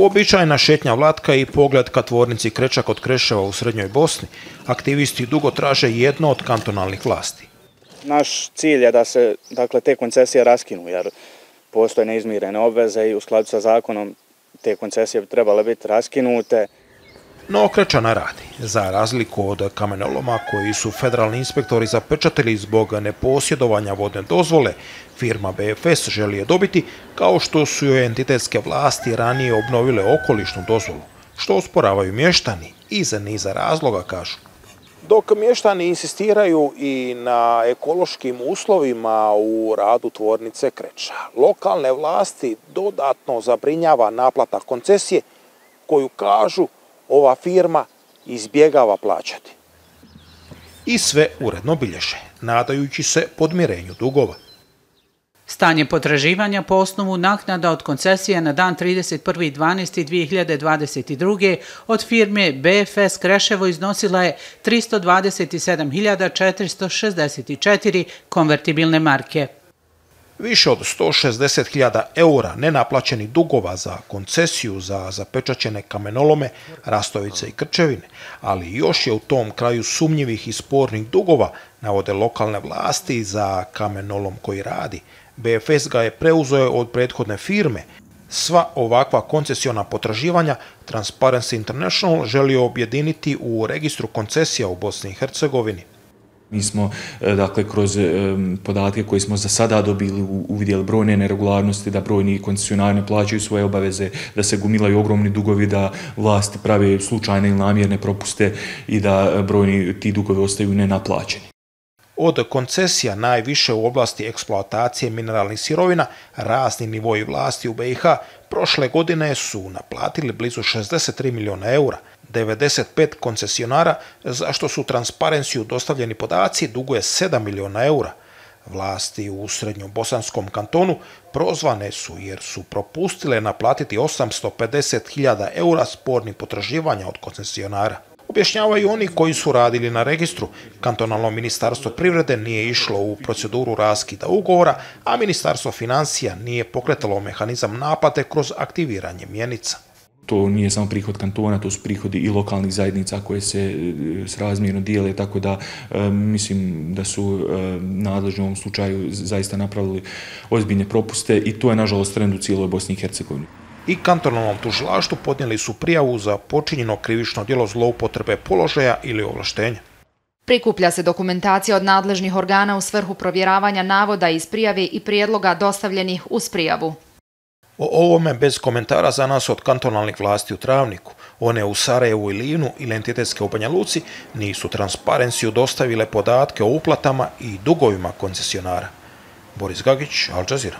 Uobičajena šetnja Vlatka i pogled ka tvornici Kreča kod Kreševa u Srednjoj Bosni, aktivisti dugo traže jedno od kantonalnih vlasti. Naš cilj je da se te koncesije raskinu, jer postoje neizmirene obveze i u skladu sa zakonom te koncesije bi trebale biti raskinute. No Kreča ne radi. Za razliku od kamenoloma koji su federalni inspektori zapečatili zbog neposjedovanja vodne dozvole, firma BFS želi je dobiti, kao što su joj entitetske vlasti ranije obnovile okolišnu dozvolu, što osporavaju mještani iz niza razloga, kažu. Dok mještani insistiraju i na ekološkim uslovima u radu tvornice Kreča, lokalne vlasti dodatno zabrinjava naplata koncesije koju, kažu, ova firma izbjegava plaćati. I sve uredno bilježe, nadajući se podmirenju dugova. Stanje potraživanja po osnovu naknada od koncesije na dan 31.12.2022. od firme BFS Kreševo iznosila je 327.464 konvertibilne marke. Više od 160.000 eura nenaplaćenih dugova za koncesiju za zapečaćene kamenolome, Rastovice i Krčevine, ali još je u tom kraju sumnjivih i spornih dugova, navode lokalne vlasti, za kamenolom koji radi. BFS ga je preuzeo od prethodne firme. Sva ovakva koncesiona potraživanja Transparency International želi objediniti u registru koncesija u Bosni i Hercegovini. Mi smo, kroz podatke koje smo za sada dobili, uvidjeli brojne neregularnosti, da brojni koncesionari ne plaćaju svoje obaveze, da se gomilaju ogromni dugovi, da vlasti prave slučajne ili namjerne propuste i da brojni ti dugovi ostaju nenaplaćeni. Od koncesija najviše u oblasti eksploatacije mineralnih sirovina razni nivoji vlasti u BiH prošle godine su naplatili blizu 63 milijuna eura. 95 koncesionara, za što su Transparencyu dostavljeni podaci, duguje 7 milijuna eura. Vlasti u Srednjobosanskom kantonu prozvane su jer su propustile naplatiti 850.000 eura spornih potraživanja od koncesionara. Objašnjavaju oni koji su radili na registru. Kantonalno ministarstvo privrede nije išlo u proceduru raskida ugovora, a ministarstvo financija nije pokretalo mehanizam naplate kroz aktiviranje mjenica. To nije samo prihod kantona, to su prihodi i lokalnih zajednica koje se srazmjerno dijele, tako da mislim da su nadležni u ovom slučaju zaista napravili ozbiljne propuste i to je nažalost trend u cijeloj Bosni i Hercegovini. I kantonalnom tužilaštvu podnijeli su prijavu za počinjeno krivično djelo zloupotrebe položaja ili ovlaštenja. Prikuplja se dokumentacija od nadležnih organa u svrhu provjeravanja navoda iz prijave i prijedloga dostavljenih uz prijavu. O ovome bez komentara za nas od kantonalnih vlasti u Travniku. One u Sarajevu i Livnu ili entitetske u Banja Luci nisu Transparencyu dostavile podatke o uplatama i dugovima koncesionara. Boris Gagić, Al Jazeera.